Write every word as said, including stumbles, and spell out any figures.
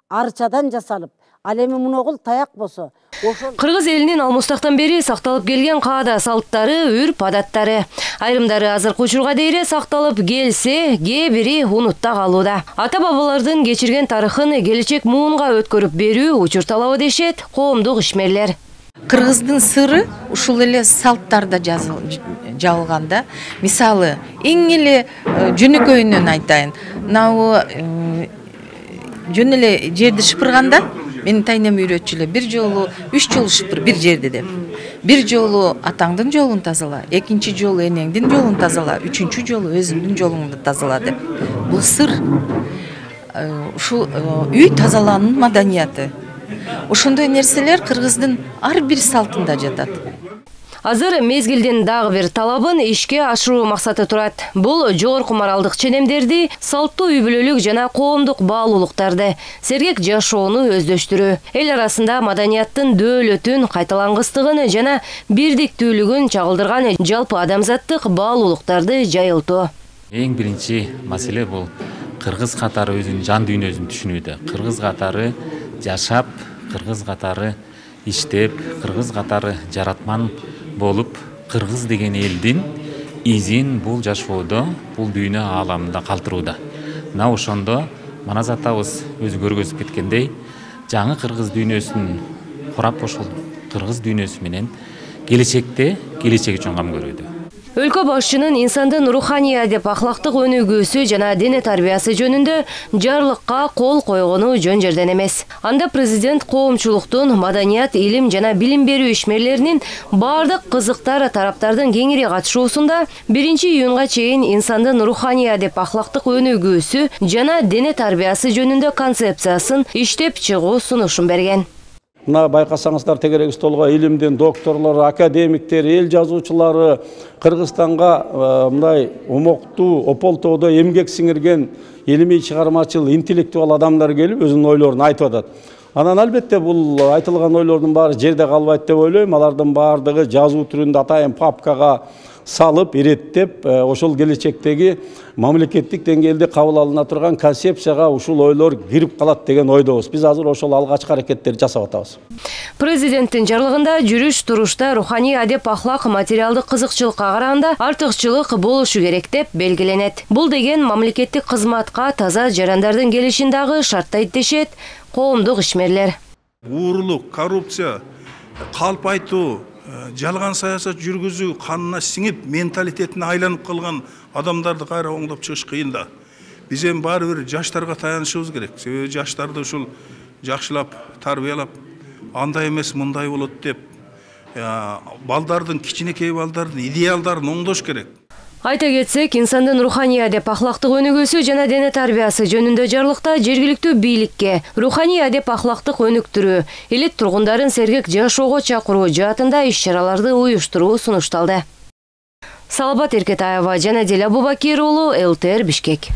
арчадан жасалып, ал эми муногул таяк болсо, ошол кыргыз элинин алмустактан бери сакталып келген каада салттары, үрп адаттары. Айрымдары азыркы учурга дейре сакталып келсе, кээ бири унутта калууда. Ата бабалардын кечирген тарыхын келечек муунга өткөрүп берүү учур талабы дешет коомдук ишмерлер. Кыргыздын сыры ушул эле салттарда жазылганда. Мисалы, эң эле жөнөкөйүнөн айтайын. Мына жөн эле жерди шыпырганда, менин тайнем үйрөтчү эле, бир жолу үч жолу шыпыр бир жерди деп. Бир жолу атаңдын жолун тазала, экинчи жолу энеңдин жолун тазала, үчүнчү жолу өзүңдүн жолуңду тазала деп. Бул сыр. Ушул үй тазалаанын маданияты. Ошондой нерселер кыргыздын ар бир салтында жатат. Азыр мезгилдин дагы бир талабын ишке ашыруу максаты турат. Бул жогорку моралдык ченемдерди, салттуу үй бүлөлүк жана коомдук баалуулуктарды, сергек жашоону өздөштүрүү, эл арасында маданияттын дөөлөтүн, кайталангыстыгын жана бирдиктүүлүгүн чагылдырган жалпы адамзаттык баалуулуктарды жайылтуу. Эң биринчи маселе бул кыргыз катары өзүнүн жан дүйнөсүн түшүнүүдө. Кыргыз катары жашап, кыргыз катары иштеп, кыргыз катары жаратман болуп, кыргыз деген элдин изин бул жашоодо, бул дүйнө ааламында калтырууда. Мына ошондо Манас атабыз өзү көргөзүп кеткендей, жаңы кыргыз дүйнөсүн курап, ошол кыргыз дүйнөсү менен келечекте келечек үчүн кам көрүүдө. Өлкө башчынын инсандын руханий адеп ахлактык өнүгүүсү жана дене тарбиясы жөнүндө жарлыкка кол койгону жөн жерден эмес. Анда президент коомчулуктун, маданият, илим жана билим берүү ишмерлеринин бардык кызыктар тараптардын кеңири катышуусунда биринчи июнга чейин инсандын руханий адеп ахлактык өнүгүүсү жана дене тарбиясы жөнүндө концепциясын иштеп чыгуу сунушун берген. Мына байкасаңыздар, тегерек столго илимдин докторлору, академиктери, эл жазуучулары, Кыргызстанга мындай умоктуу, ополтоодо эмгек сиңирген илимий чыгармачыл, интеллектуал адамдар келип өзүнүн ойлорун айтып атат. Анан албетте бул айтылган ойлордун баары жерде калбайт деп ойлойм. Алардын баардыгы жазуу түрүндө атайын папкага салып, иреттеп, ошол келечектеги мамлекеттик деңгээлде кабыл алына турган концепцияга ушул ойлор кирип калат деген ойдобуз. Биз азыр ошол алгачкы аракеттерди жасап атабыз. Президенттин жарлыгында жүрүш турушта руханий адеп ахлак материалдык кызыкчылыкка караганда артыкчылык болушу керек деп белгиленет. Бул деген мамлекеттик кызматка таза жарандардын келишин дагы шарттайт дешет коомдук ишмерлер. Уурулук, коррупция, калп айтуу, жалган саясат жүргүзүү канына сиңип, менталитетине айланып калган адамдарды кайра оңдоп чыгыш кыйын да. Биз эми баары бир жаштарга таянышыбыз керек. Себеби жаштарды ушул жакшылап, тарбиялап, андай эмес, мындай болот деп, балдардын, кичинекей балдардын идеалдарын оңдош керек. Айта кетсек, инсандын руханий адеп ахлактык өнүгүүсү жана дене тарбиясы жөнүндө жарлыкта жергиликтүү бийликке руханий адеп ахлактык өнүктүрүү, элет тургундарын сергек жашоого чакыруу жаатында иш-чараларды уюштуруу сунушталды. Салабат Эркетаева жана Диле Абубакир уулу, эл тэ эр Бишкек.